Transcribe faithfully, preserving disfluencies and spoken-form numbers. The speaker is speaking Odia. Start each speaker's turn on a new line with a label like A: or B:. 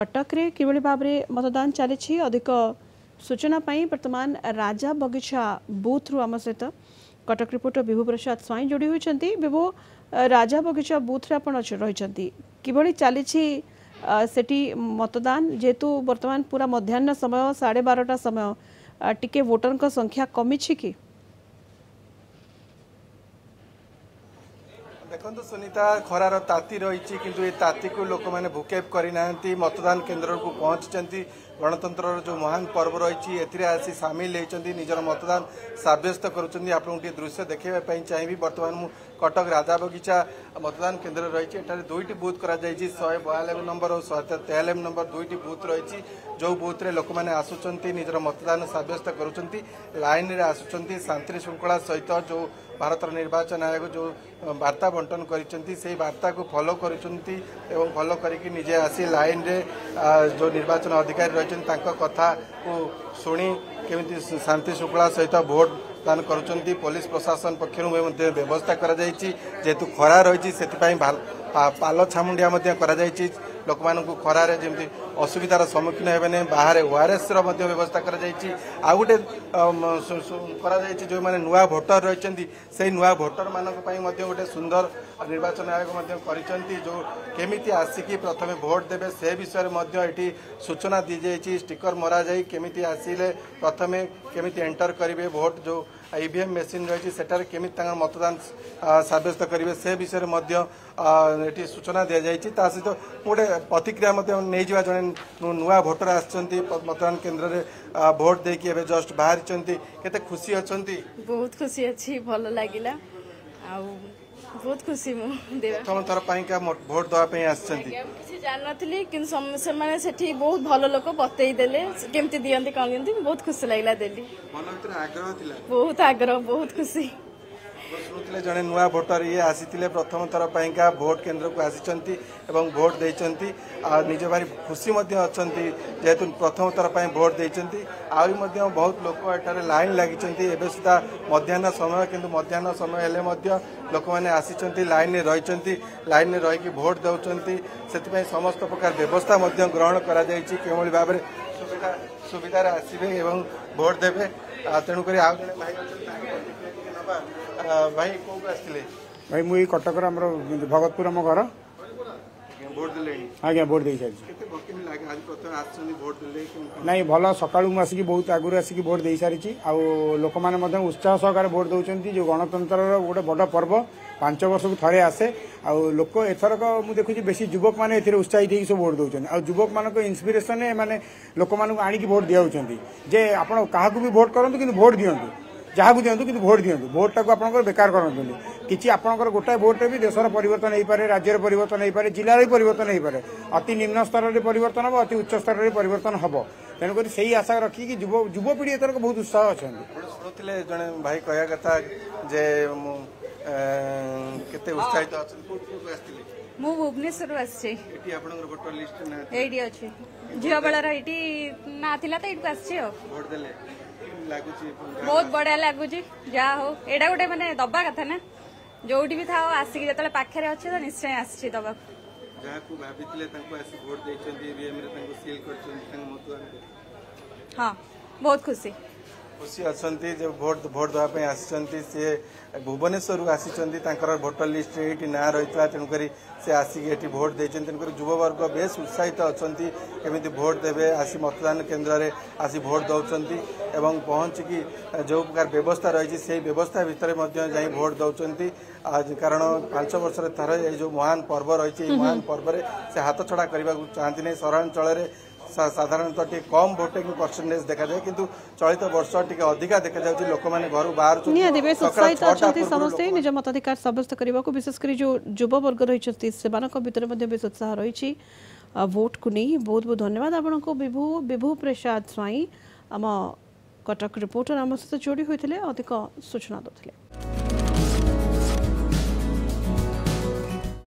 A: କଟକରେ କିଭଳି ଭାବରେ ମତଦାନ ଚାଲିଛି, ଅଧିକ ସୂଚନା ପାଇଁ ବର୍ତ୍ତମାନ ରାଜା ବଗିଚା ବୁଥରୁ ଆମ ସହିତ କଟକ ରିପୋର୍ଟର ବିଭୁ ପ୍ରସାଦ ସ୍ୱାଇଁ ଯୋଡ଼ି ହୋଇଛନ୍ତି। ବିଭୁ, ରାଜା ବଗିଚା ବୁଥରେ ଆପଣ ରହିଛନ୍ତି, କିଭଳି ଚାଲିଛି ସେଠି ମତଦାନ? ଯେହେତୁ ବର୍ତ୍ତମାନ ପୁରା ମଧ୍ୟାହ୍ନ ସମୟ, ସାଢ଼େ ବାରଟା ସମୟ, ଟିକେ ଭୋଟରଙ୍କ ସଂଖ୍ୟା କମିଛି କି?
B: ଦେଖନ୍ତୁ ସୁନିତା, ଖରାର ତାତି ରହିଛି, କିନ୍ତୁ ଏ ତାତିକୁ ଲୋକମାନେ ଭୁକେପ କରିନାହାନ୍ତି, ମତଦାନ କେନ୍ଦ୍ରକୁ ପହଞ୍ଚିଛନ୍ତି। ଗଣତନ୍ତ୍ରର ଯେଉଁ ମହାନ ପର୍ବ ରହିଛି ଏଥିରେ ଆସି ସାମିଲ ହେଇଛନ୍ତି, ନିଜର ମତଦାନ ସାବ୍ୟସ୍ତ କରୁଛନ୍ତି। ଆପଣଙ୍କୁ ଟିକେ ଦୃଶ୍ୟ ଦେଖାଇବା ପାଇଁ ଚାହିଁବି। ବର୍ତ୍ତମାନ ମୁଁ କଟକ ରାଜାବଗିଚା ମତଦାନ କେନ୍ଦ୍ରରେ ରହିଛି। ଏଠାରେ ଦୁଇଟି ବୁଥ୍ କରାଯାଇଛି, ଶହେ ବୟାନବେ ନମ୍ବର ଓ ଶହେ ତେୟାନବେ ନମ୍ବର ଦୁଇଟି ବୁଥ୍ ରହିଛି, ଯେଉଁ ବୁଥ୍ରେ ଲୋକମାନେ ଆସୁଛନ୍ତି, ନିଜର ମତଦାନ ସାବ୍ୟସ୍ତ କରୁଛନ୍ତି, ଲାଇନ୍ରେ ଆସୁଛନ୍ତି ଶାନ୍ତି ଶୃଙ୍ଖଳା ସହିତ। ଯେଉଁ ଭାରତର ନିର୍ବାଚନ ଆୟୋଗ ଯେଉଁ ବାର୍ତ୍ତା ବଣ୍ଟନ କରିଛନ୍ତି ସେଇ ବାର୍ତ୍ତାକୁ ଫଲୋ କରୁଛନ୍ତି ଏବଂ ଫଲୋ କରିକି ନିଜେ ଆସି ଲାଇନ୍ରେ ଯେଉଁ ନିର୍ବାଚନ ଅଧିକାରୀ ରହିଛନ୍ତି ତାଙ୍କ କଥାକୁ ଶୁଣି କେମିତି ଶାନ୍ତି ଶୃଙ୍ଖଳା ସହିତ ଭୋଟ ଦାନ କରୁଛନ୍ତି। ପୋଲିସ ପ୍ରଶାସନ ପକ୍ଷରୁ ମଧ୍ୟ ବ୍ୟବସ୍ଥା କରାଯାଇଛି। ଯେହେତୁ ଖରା ରହିଛି ସେଥିପାଇଁ ପାଲ ଛାମୁଣ୍ଡିଆ ମଧ୍ୟ କରାଯାଇଛି, ଲୋକମାନଙ୍କୁ ଖରାରେ ଯେମିତି ଅସୁବିଧାର ସମ୍ମୁଖୀନ ହେବେ ନାହିଁ। ବାହାରେ ଓଆର୍ଏସ୍ର ମଧ୍ୟ ବ୍ୟବସ୍ଥା କରାଯାଇଛି। ଆଉ ଗୋଟେ କରାଯାଇଛି, ଯେଉଁମାନେ ନୂଆ ଭୋଟର ରହିଛନ୍ତି ସେଇ ନୂଆ ଭୋଟରମାନଙ୍କ ପାଇଁ ମଧ୍ୟ ଗୋଟେ ସୁନ୍ଦର ନିର୍ବାଚନ ଆୟୋଗ ମଧ୍ୟ କରିଛନ୍ତି, ଯେଉଁ କେମିତି ଆସିକି ପ୍ରଥମେ ଭୋଟ ଦେବେ ସେ ବିଷୟରେ ମଧ୍ୟ ଏଠି ସୂଚନା ଦିଆଯାଇଛି। ଷ୍ଟିକର ମରାଯାଇ କେମିତି ଆସିଲେ ପ୍ରଥମେ କେମିତି ଏଣ୍ଟର କରିବେ ଭୋଟ, ଯେଉଁ ଇଭିଏମ୍ ମେସିନ୍ ରହିଛି ସେଠାରେ କେମିତି ତାଙ୍କର ମତଦାନ ସାବ୍ୟସ୍ତ କରିବେ ସେ ବିଷୟରେ ମଧ୍ୟ ଏଠି ସୂଚନା ଦିଆଯାଇଛି। ତା ସହିତ ଗୋଟେ ପ୍ରତିକ୍ରିୟା ମଧ୍ୟ ନେଇଯିବା। ଜଣେ ନୂଆ ଭୋଟର ଆସିଛନ୍ତି ମତଦାନ କେନ୍ଦ୍ରରେ, ଭୋଟ ଦେଇକି ଏବେ ଜଷ୍ଟ ବାହାରିଛନ୍ତି, କେତେ ଖୁସି ଅଛନ୍ତି?
C: ବହୁତ ଖୁସି ଅଛି, ଭଲ ଲାଗିଲା ଆଉ ବହୁତ ଖୁସି ମୁଁ।
B: ପ୍ରଥମ ଥର ପାଇଁକା ଭୋଟ ଦେବା ପାଇଁ ଆସିଛନ୍ତି?
C: କିଛି ଜାଣିନଥିଲି, କିନ୍ତୁ ସେମାନେ ସେଠି ବହୁତ ଭଲ ଲୋକ, ବତେଇ ଦେଲେ କେମିତି ଦିଅନ୍ତି କଣ ଦିଅନ୍ତି, ବହୁତ ଖୁସି ଲାଗିଲା ଦେଲି।
B: ମନ ଭିତରେ ଆଗ୍ରହ ଥିଲା?
C: ବହୁତ ଆଗ୍ରହ, ବହୁତ ଖୁସି।
B: ଶୁଣୁଥିଲେ ଜଣେ ନୂଆ ଭୋଟର ଇଏ ଆସିଥିଲେ, ପ୍ରଥମ ଥର ପାଇଁକା ଭୋଟ କେନ୍ଦ୍ରକୁ ଆସିଛନ୍ତି ଏବଂ ଭୋଟ ଦେଇଛନ୍ତି ଆଉ ନିଜ ଭାରି ଖୁସି ମଧ୍ୟ ଅଛନ୍ତି ଯେହେତୁ ପ୍ରଥମ ଥର ପାଇଁ ଭୋଟ ଦେଇଛନ୍ତି। ଆହୁରି ମଧ୍ୟ ବହୁତ ଲୋକ ଏଠାରେ ଲାଇନ୍ ଲାଗିଛନ୍ତି। ଏବେ ସୁଦ୍ଧା ମଧ୍ୟାହ୍ନ ସମୟ, କିନ୍ତୁ ମଧ୍ୟାହ୍ନ ସମୟ ହେଲେ ମଧ୍ୟ ଲୋକମାନେ ଆସିଛନ୍ତି, ଲାଇନ୍ରେ ରହିଛନ୍ତି, ଲାଇନ୍ରେ ରହିକି ଭୋଟ ଦେଉଛନ୍ତି। ସେଥିପାଇଁ ସମସ୍ତ ପ୍ରକାର ବ୍ୟବସ୍ଥା ମଧ୍ୟ ଗ୍ରହଣ କରାଯାଇଛି, କେଉଁଭଳି ଭାବରେ ସୁବିଧା ସୁବିଧାରେ ଆସିବେ ଏବଂ ଭୋଟ ଦେବେ। ତେଣୁକରି ଆଉ ଜଣେ ଭାଇ ଅଛନ୍ତି, ତାଙ୍କ ପ୍ରତିକ୍ରିୟା ଟିକେ ନେବା। ଭାଇ, କୋଉଠୁ ଆସିଥିଲେ?
D: ଭାଇ, ମୁଁ ଏଇ କଟକର, ଆମର ଭଗତପୁର ଆମ ଘର।
B: ଭୋଟ ଦେଲେଣି?
D: ଆଜ୍ଞା, ଭୋଟ ଦେଇ ସାରିଛି।
B: କେତେ କେମିତି ଲାଗେ ଆଜି ପ୍ରଥମେ ଆସିଛନ୍ତି, ଭୋଟ ଦେଲେ?
D: ନାଇଁ ଭଲ, ସକାଳୁ ମୁଁ ଆସିକି ବହୁତ ଆଗରୁ ଆସିକି ଭୋଟ ଦେଇ ସାରିଛି ଆଉ ଲୋକମାନେ ମଧ୍ୟ ଉତ୍ସାହ ସହକାରେ ଭୋଟ ଦେଉଛନ୍ତି। ଯେଉଁ ଗଣତନ୍ତ୍ରର ଗୋଟେ ବଡ଼ ପର୍ବ, ପାଞ୍ଚ ବର୍ଷକୁ ଥରେ ଆସେ, ଆଉ ଲୋକ ଏଥରକ ମୁଁ ଦେଖୁଛି ବେଶୀ ଯୁବକମାନେ ଏଥିରେ ଉତ୍ସାହିତ ହେଇକି ସବୁ ଭୋଟ ଦେଉଛନ୍ତି। ଆଉ ଯୁବକମାନଙ୍କ ଇନ୍ସପିରେସନରେ ଏମାନେ ଲୋକମାନଙ୍କୁ ଆଣିକି ଭୋଟ ଦିଆଉଛନ୍ତି ଯେ ଆପଣ କାହାକୁ ବି ଭୋଟ କରନ୍ତୁ କିନ୍ତୁ ଭୋଟ ଦିଅନ୍ତୁ, ଯାହାକୁ ଦିଅନ୍ତୁ କିନ୍ତୁ ଭୋଟ ଦିଅନ୍ତୁ, ଭୋଟଟାକୁ ଆପଣଙ୍କର ବେକାର କରନ୍ତୁନି କିଛି। ଆପଣଙ୍କର ଗୋଟାଏ ଭୋଟରେ ବି ଦେଶର ପରିବର୍ତ୍ତନ ହେଇପାରେ, ରାଜ୍ୟର ପରିବର୍ତ୍ତନ ହେଇପାରେ, ଜିଲ୍ଲାର ବି ପରିବର୍ତ୍ତନ ହେଇପାରେ। ଅତି ନିମ୍ନ ସ୍ତରରେ ପରିବର୍ତ୍ତନ ହେବ, ଅତି ଉଚ୍ଚ ସ୍ତରରେ ପରିବର୍ତ୍ତନ ହେବ। ତେଣୁକରି ସେଇ ଆଶା ରଖିକି ଯୁବ ଯୁବପିଢ଼ି ଏଥରକ ବହୁତ ଉତ୍ସାହ ଅଛନ୍ତି।
B: ଶୁଣୁଥିଲେ ଜଣେ ଭାଇ କହିବା କଥା ଯେ ମୁଁ କେତେ ଉତ୍ସାହିତ ଅଛନ୍ତି। କୋଉଠୁ କୋଉଠୁ ଆସିଥିଲେ?
E: ମୁଁ ଭୁବନେଶ୍ୱରରୁ ଆସିଛି।
B: ଏଠି ଆପଣଙ୍କର ଭୋଟର ଲିଷ୍ଟ ନାଁ
E: ଏଇଠି ଅଛି, ଝିଅ ବେଳର ଏଇଠି ନାଁ ଥିଲା ତ ଏଇଠୁ ଆସିଛି। ଆଉ
B: ଭୋଟ ଦେଲେ ଲାଗୁଛି?
E: ବହୁତ ବଢିଆ ଲାଗୁଛି। ଯାହା ହଉ, ଏଇଟା ଗୋଟେ ମାନେ ଦବା କଥା ନା, ଯୋଉଠି ବି ଥାଅ ଆସିକି ଯେତେବେଳେ ପାଖରେ ଅଛି ତ ନିଶ୍ଚୟ ଆସିଛି ଦବାକୁ।
B: ଯାହାକୁ ଭାବିଥିଲେ ତାଙ୍କୁ ଆସି ଭୋଟ ଦେଇଛନ୍ତି, ଇଭିଏମ୍ ରେ ତାଙ୍କୁ ସିଲ୍ କରିଛନ୍ତି ତାଙ୍କ ମତଦାନ?
E: ହଁ, ବହୁତ ଖୁସି।
B: ଖୁସି ଅଛନ୍ତି ଯେ ଭୋଟ ଭୋଟ ଦେବା ପାଇଁ ଆସିଛନ୍ତି। ସିଏ ଭୁବନେଶ୍ୱରରୁ ଆସିଛନ୍ତି, ତାଙ୍କର ଭୋଟର ଲିଷ୍ଟରେ ଏଇଠି ନାଁ ରହିଥିଲା, ତେଣୁକରି ସେ ଆସିକି ଏଠି ଭୋଟ ଦେଇଛନ୍ତି। ତେଣୁକରି ଯୁବବର୍ଗ ବେଶ ଉତ୍ସାହିତ ଅଛନ୍ତି କେମିତି ଭୋଟ ଦେବେ, ଆସି ମତଦାନ କେନ୍ଦ୍ରରେ ଆସି ଭୋଟ ଦେଉଛନ୍ତି ଏବଂ ପହଞ୍ଚିକି ଯେଉଁ ପ୍ରକାର ବ୍ୟବସ୍ଥା ରହିଛି ସେଇ ବ୍ୟବସ୍ଥା ଭିତରେ ମଧ୍ୟ ଯାଇ ଭୋଟ ଦେଉଛନ୍ତି। କାରଣ ପାଞ୍ଚ ବର୍ଷରେ ଥରେ ଏଇ ଯେଉଁ ମହାନ ପର୍ବ ରହିଛି, ଏଇ ମହାନ ପର୍ବରେ ସେ ହାତ ଛଡ଼ା କରିବାକୁ ଚାହାନ୍ତି ନାହିଁ। ସହରାଞ୍ଚଳରେ ସାଧାରଣତଃ ଟିକେ କମ୍ ଭୋଟିଂ ପରସେଣ୍ଟେଜ ଦେଖାଯାଏ, କିନ୍ତୁ ଚଳିତ ବର୍ଷ ଟିକେ ଅଧିକା ଦେଖାଯାଉଛି, ଲୋକମାନେ ଘରୁ ବାହାରୁଛନ୍ତି।
A: ନିହାତି ବେଶ ଉତ୍ସାହିତ ଅଛନ୍ତି ସମସ୍ତେ ନିଜ ମତାଧିକାର ସାବ୍ୟସ୍ତ କରିବାକୁ। ବିଶେଷ କରି ଯେଉଁ ଯୁବବର୍ଗ ରହିଛନ୍ତି ସେମାନଙ୍କ ଭିତରେ ମଧ୍ୟ ବେଶ ଉତ୍ସାହ ରହିଛି ଭୋଟକୁ ନେଇ। ବହୁତ ବହୁତ ଧନ୍ୟବାଦ ଆପଣଙ୍କୁ ବିଭୁ। ବିଭୁ ପ୍ରସାଦ ସ୍ୱାଇଁ ଆମ କଟକ ରିପୋର୍ଟର ଆମ ସହିତ ଯୋଡ଼ି ହୋଇଥିଲେ, ଅଧିକ ସୂଚନା ଦେଉଥିଲେ।